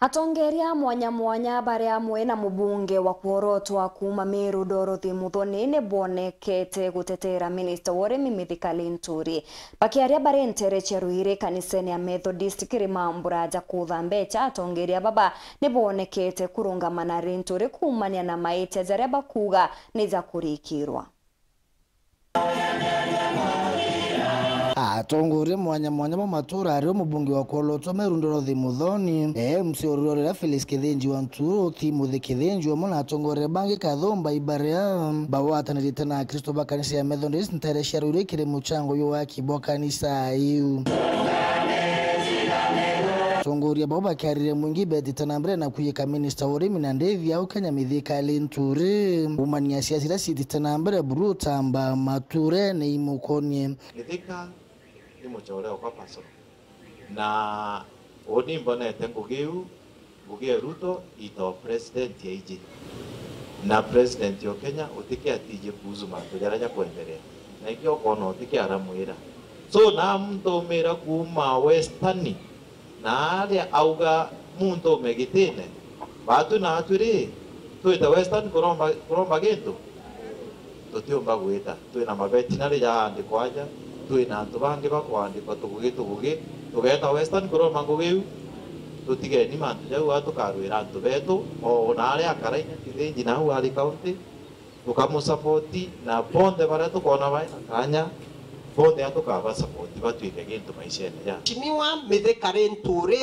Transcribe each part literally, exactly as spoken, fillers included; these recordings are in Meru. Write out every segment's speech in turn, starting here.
Atongeria mwanya mwanya bari amwe na mubunge wa kworotwa kuuma Meru Dorothy Muthoni ni bonekete gutetera minista wa urimi Mithika Linturi. Bakiaria bari ntere cia Ruiri kanisene ya Methodist Kirimambura ja kutha mbecha, atongeria baba ni bonekete kurungama na Linturi kuumania na maitia jaria bakuuga ni ja kurikirwa. Atongoria mwanya mwanya ba matura ario mubunge wa kworotwa Meru Dorothy Muthoni, M C wa Ruiri Felix Kithinji wa Nturu, Timothy Kithinji, amwe na atongoria bangi kathumba ibaria bagwatanirite na Akristo ba kanisa ya Methodist ntere cia Ruiri kiri muchango jwa waki bwa kanisa iu. Atongoria bau bakiarire mwingi betite na mbere na kuyika minista wa urimi na ndithi au Kenya Mithika Linturi umania siasa iria ciitite na mbere buru utamba maturene imukonie. Mithika ni mucore okwa personal. Na uni mbonete ngugi iu, ngugi ya Ruto ito president ya iji. Na president o Kenya utike atiji kuhusu mantu jaria jakwenderea. Na ikio ukona utike aramwira. So, na muntu umira kuuma Western, na aria auga muntu ume gitine. Batu na atwi ri, twite Western kuromba, kuromba gintu? Tutiumba gwita. Twina mavetinary jaandikwa aja, twina antu bangi bakwandikwa tugugi tugugi, tugeeta Western kuromba ngugi iu. Tutigeni mantu jau, a tukarwira antu betu, o na aria akara inya Kithinji nau ari county, tukamusapoti, na bonthe baria tukoona baina kanya, bonthe a tukabasapoti batwike gintu maishene ja. Mheshimiwa Mithika Linturi,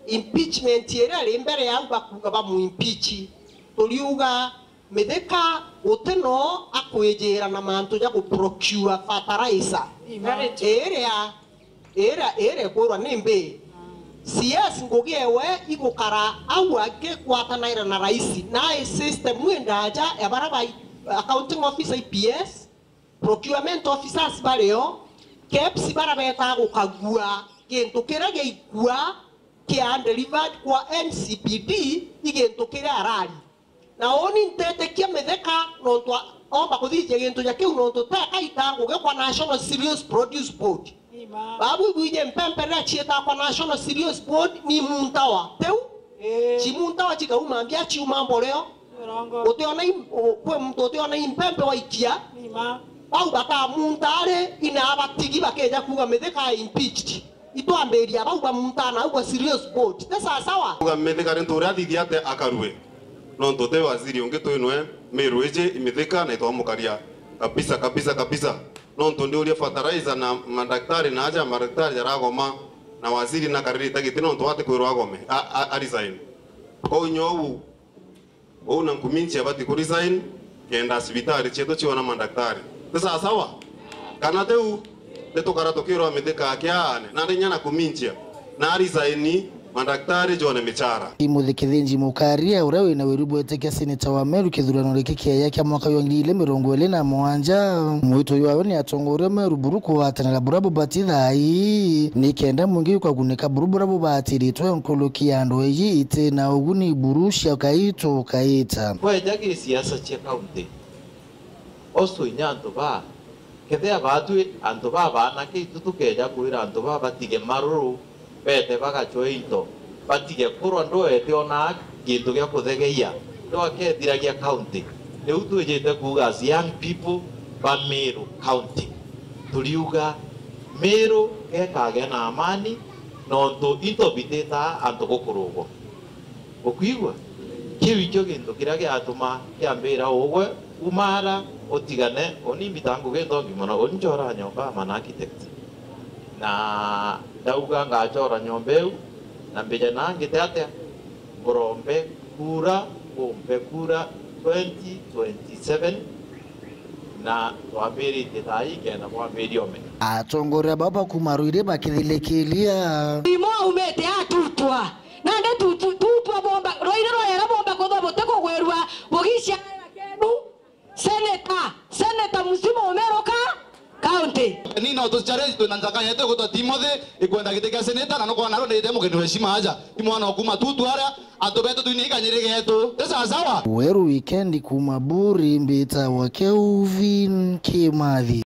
impeachment iria iri mbere yau bakuuga bamuimpeach, turiuga Mithika guti no akwijira na mantu ja guprocure fertilizer. Very true. Iria, iria, iria ikwirwa ni mbi. C S ngugi ewe igukara au akigwatanaira na raisi. Na system ii ndaja ya baria ba accounting officer, I P S, procurement officers bario, keps baria betaa gukagua gintu kiria giaikua kia delivered kwa N C P D i gintu kiria arari. Na uni ntetikia Mithika nontu a-, omba kuthithia gintu ja kiu nontu teka ita ngugi kwa National Cereals Produce Board. Babu ibwije mpempe riria ciitaa kwa National Cereals Board ni muntawa. Tiu? Ii. Cimuntawa cikauma mbia ciuma mboreo. Urongo. Utiona i-, u-, kwi muntu utiona i mpempe waikia. Bau bakamunta ari ina abatigi bakeja kuuga Mithika impeached. Itwambiria bau bamunta na au kwa Cereals Board. Ti sawa sawa? Kuuga Mithika Linturi athithia atia akarue? Nontu ti waziri ungi twi nwe Meru iji i Mithika na itwamukaria kabisa, kabisa, kabisa. Nontu ndiuria fertilizer na madaktari na aja madaktari jaragoma na waziri na karirite giti nontu ati kwirwa agome, a, a, a resign. Kwou nyogu, uu na Nkuminchi abati ku resign, kenda cibitari cietu ciona madaktari. Ti sawa sawa? Kana tiu, ni tukara tukirwa Mithika akiaane, na ndi nya na Nkuminchi na resign, madaktari jone michara. Timothy Kithinji Mukaria, uria wina wiru bwetikia seneta wa Meru kithurano giki kiaya kia mwaka wa ngiri igiri mirongo iri na mugwanja, mwito jwawe ni atongoria Meru buru kugwatanira buria bubati thaa ii, ni kenda mwingi ukagunika buru buria bubatiritwe nkuruki ya andu eji iti na uguni buru cia kaitu kaita. Kweja gi siasa cia kaunti, oso inya antu ba Kethira baatwi antu baa baanake itu tukeeja kwira antu baa batige maruru, beete bagacwe into, batige kurwa ndwete ona gintu gia kuthegeia, ndwakethiragia county. Riu twijite kuuga as young people ba Meru County, turiuga Meru gekagea na amani, nontu into bititaa antu gukurugwa. Ukwigua? Kiu ikio gintu kiria giatuma kiambira ugwe, umara, utigane, uni mbita ngugi nthongi mono, uni nchora nyomba, I'm an architect. Na ndauga ngachora nyomba iu, na mbije na ngite atia, ngurombe kura, ngumpe kura twenty twenty-seven, na twambiritie thaa ii kenda bwambiria umenya. Atongoria baba kuma Ruiri bakithilikilia. Imo aumite atutwa. Nandi tu-, tu-, tutwa bomba, rwaire rwayera bomba kuthwa buti kugwirua, bugicia kenu, senator, senator mzima umeruka county. Ni no tu challenge twina nzaka yetu gutwa Timothy, ikwenda giti kia senator, na nukwona aro nite mugeni wa heshima aja. I mwana okuma tutu aria, antu betu twini ikanyiri getu. Ti sawa sawa? Weru Weekend kuma Buri, mbita wa Kelvin Kimathi.